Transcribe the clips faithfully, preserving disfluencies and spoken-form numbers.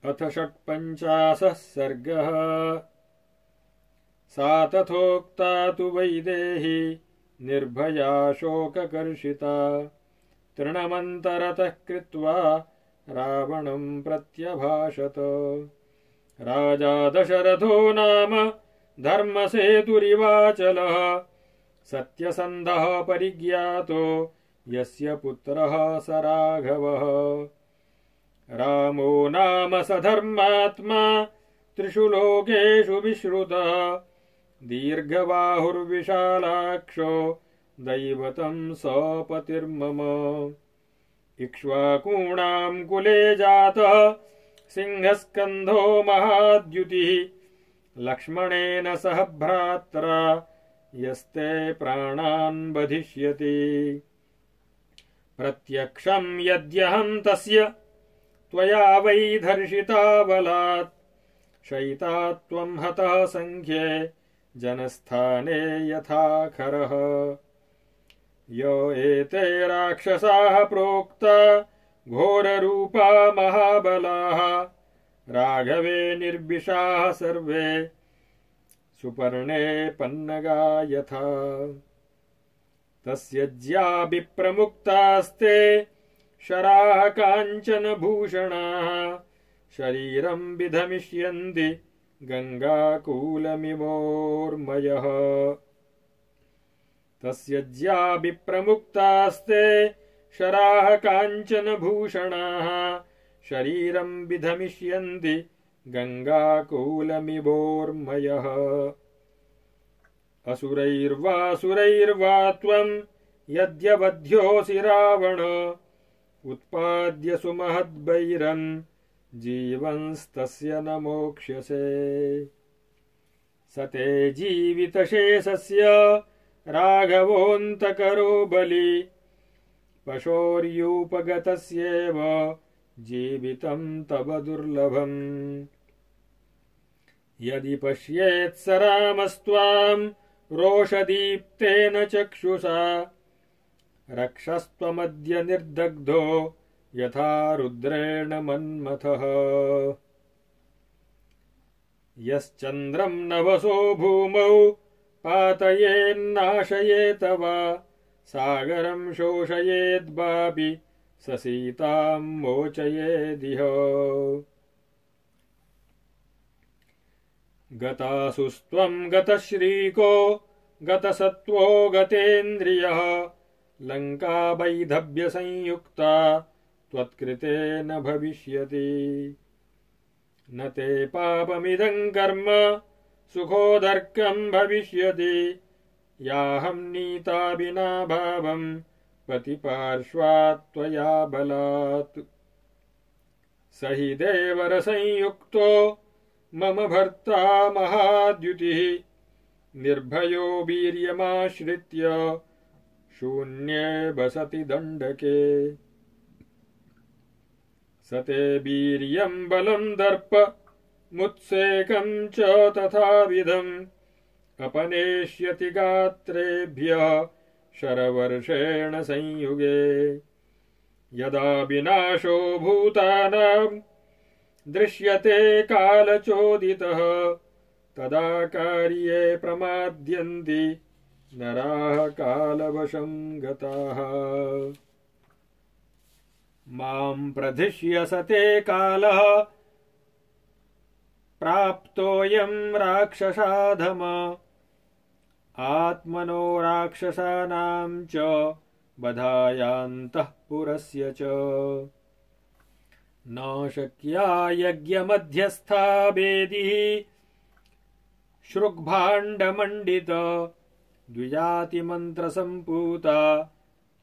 अथ षट्पञ्चाशः सर्गः। सा तथोक्ता तु वैदेही निर्भया शोककर्षिता तृणमन्तरतः कृत्वा रावणं प्रत्यभाषत। राजा दशरथो नाम धर्मसेतुरिवाचलः सत्यसन्धः परिज्ञातो यस्य पुत्रः स राघवः। रामो नाम स धर्मात्मा त्रिषु लोकेषु विश्रुतः दीर्घबाहुर्विशालाक्षो दैवतं सपतिर्मम। इक्ष्वाकूणां कुले जातः सिंहस्कन्धो महाद्युतिः लक्ष्मणेन सह भ्रात्रा यस्ते प्राणान् बधिष्यति। प्रत्यक्षं यद्यहं तस्य त्वया वै धर्षिता बलात् शयिता त्वं हतः संख्ये जनस्थाने यथा खरः। यो एते राक्षसाः प्रोक्ता घोररूपा महाबलाः राघवे निर्विशाः सर्वे सुपर्णे पन्नगा यथा। तस्य ज्या विप्रमुक्तास्ते शराः काञ्चन भूषणाः शरीरं विधमिष्यन्ति गङ्गाकूलमिवोर्मयः। तस्य ज्या विप्रमुक्तास्ते शराः काञ्चन भूषणाः शरीरं विधमिष्यन्ति गङ्गाकूलमिवोर्मयः। असुरैर्वासुरैर्वा त्वं यद्यवध्योऽसि रावण उत्पाद्य सुमहद्वैरं जीवंस्तस्य न मोक्ष्यसे। स ते जीवितशेषस्य राघवोऽन्तकरो बलि पशोर्यूपगतस्येव जीवितं तव दुर्लभम्। यदि पश्येत् स रामस्त्वां रोषदीप्तेन चक्षुषा रक्षस्त्वमद्य निर्दग्धो यथा रुद्रेण मन्मथः। यश्चन्द्रं नभसो भूमौ पातयेन्नाशयेत वा सागरं शोषयेद्वापि स सीतां मोचयेदिह। गतासुस्त्वं गतश्रीको गतसत्त्वो गतेन्द्रियः लङ्का वैधव्यसंयुक्ता त्वत्कृते न भविष्यति। न ते पापमिदं कर्म सुखोदर्कं भविष्यति याहं नीता विना भावं पतिपार्श्वात् त्वया बलात्। स हि देवरसंयुक्तो मम भर्ता महाद्युतिः निर्भयो वीर्यमाश्रित्य शून्ये वसति दण्डके। स ते वीर्यं बलं दर्प मुत्सेकं च तथाविधम् अपनेष्यति गात्रेभ्यः शरवर्षेण संयुगे। यदा विनाशो भूतानां दृश्यते कालचोदितः तदा कार्ये प्रमाद्यन्ति नराः कालवशं गताः। मां प्रधिष्यसते कालः प्राप्तोऽयं राक्षसाधम आत्मनो राक्षसानां च वधायान्तःपुरस्य च। न शक्या यज्ञमध्यस्था वेदिः श्रुग्भाण्डमण्डित द्विजातिमन्त्रसम्पूता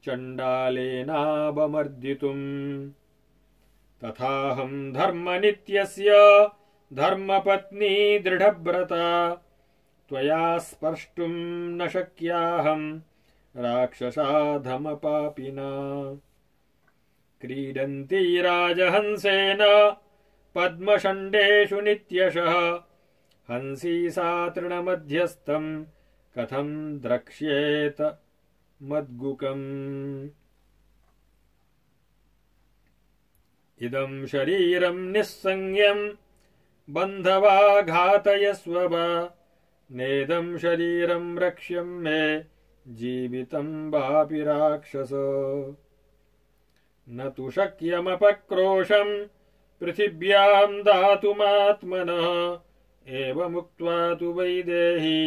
चण्डालेनावमर्दितुम्। तथाहं धर्मनित्यस्य धर्मपत्नी दृढव्रता त्वया स्पर्ष्टुं न शक्याहं राक्षसाधमपापिना। क्रीडन्ती राजहंसेन पद्मषण्डेषु नित्यशः हंसी सा तृणमध्यस्थं कथं द्रक्ष्येत मद्गुकम्। इदं शरीरं निस्संज्ञं बन्धवा घातयस्व वा नेदं शरीरं रक्ष्यं मे जीवितं वापि राक्षस न तु शक्यमपक्रोशं पृथिव्यां दातुमात्मनः एवमुक्त्वा तु वैदेही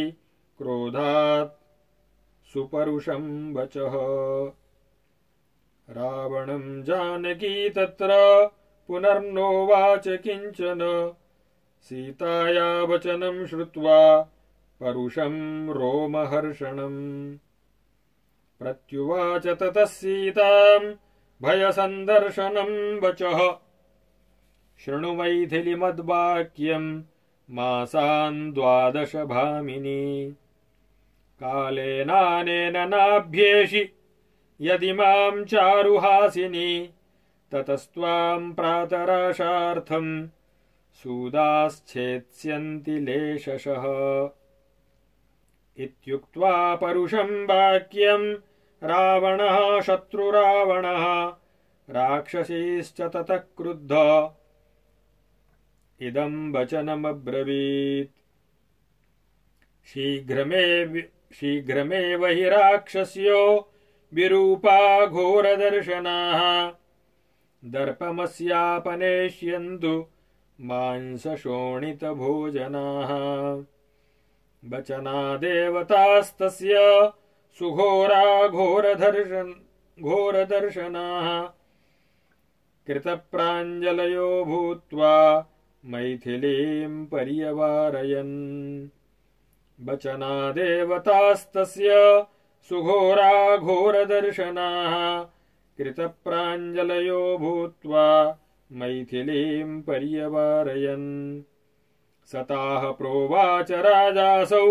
क्रोधात् सुपरुषं वचः रावणं जानकी तत्र पुनर्नोवाच किञ्चन सीताया वचनं श्रुत्वा परुषं रोमहर्षणम् प्रत्युवाच ततः सीतां भयसन्दर्शनं वचः शृणु मैथिलीमद्वाक्यं मासान् द्वादश भामिनी कालेनानेन नाभ्येषि यदि मां चारुहासिनी ततस्त्वां प्रातराशार्थं सूदाश्चेत्स्यन्ति लेशशः इत्युक्त्वा परुषं वाक्यं रावणः शत्रुरावणः राक्षसीश्च ततः क्रुद्धः इदं वचनमब्रवीत् शीघ्रमेव शीघ्रमेव हि राक्षस्यो विरूपा घोरदर्शनाः दर्पमस्यापनेष्यन्तु मांसशोणितभोजनाः वचनादेवतास्तस्य सुघोरा घोरदर्शन घोरदर्शनाः कृतप्राञ्जलयो भूत्वा मैथिलीं पर्यवारयन् वचनादेवतास्तस्य सुघोरा घोरदर्शनाः कृतप्राञ्जलयो भूत्वा मैथिलीं पर्यवारयन् सताः प्रोवाच राजासौ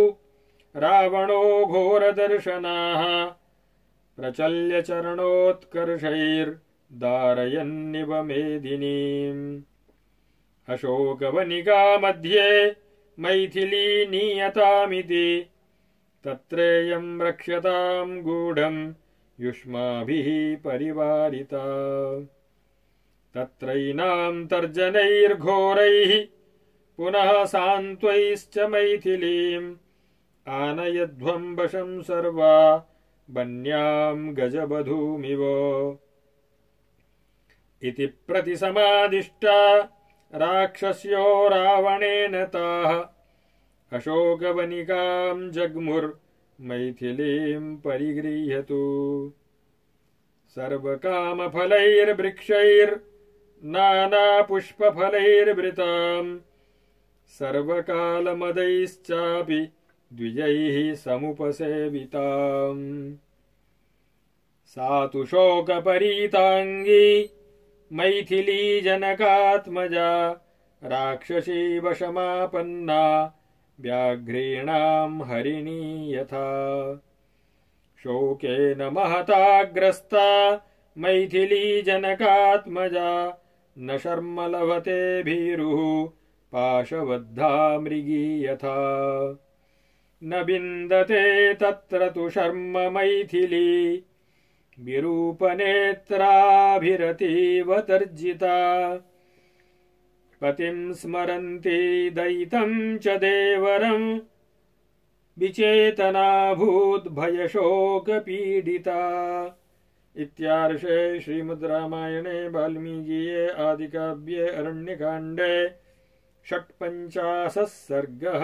रावणो घोरदर्शनाः प्रचल्य चरणोत्कर्षैर्दारयन्निव मेदिनीम् अशोकवनिका मध्ये मैथिली नीयतामिति तत्रेयं रक्ष्यतां गूढं युष्माभिः परिवारिता तत्रैनां तर्जनैर्घोरैः पुनः सान्त्वैश्च मैथिलीम् आनयध्वं वशं सर्वा वन्यां गजबधूमिव इति प्रतिसमादिष्टा राक्षस्यो रावणेन ताः अशोकवनिकां जग्मुर्मैथिलीं परिगृह्यतु सर्वकामफलैर्वृक्षैर्नानापुष्पफलैर्वृतां सर्वकालमदैश्चापि द्विजैः समुपसेविताम् सा तु शोकपरीताङ्गी मैथिली जनकात्मजा राक्षसी वशमापन्ना व्याघ्रेणां हरिणी यथा शोकेन महताग्रस्ता मैथिली जनकात्मजा न शर्म लभते भीरुः पाशबद्धा मृगी यथा न विन्दते तत्र तु शर्म मैथिली विरूपनेत्राभिरतीव तर्जिता पतिं स्मरन्ती दयितं च देवरं विचेतनाभूत् भयशोकपीडिता। इत्यार्षे श्रीमद् रामायणे वाल्मीकीये आदिकाव्ये अरण्यकाण्डे षट्पञ्चाशः सर्गः।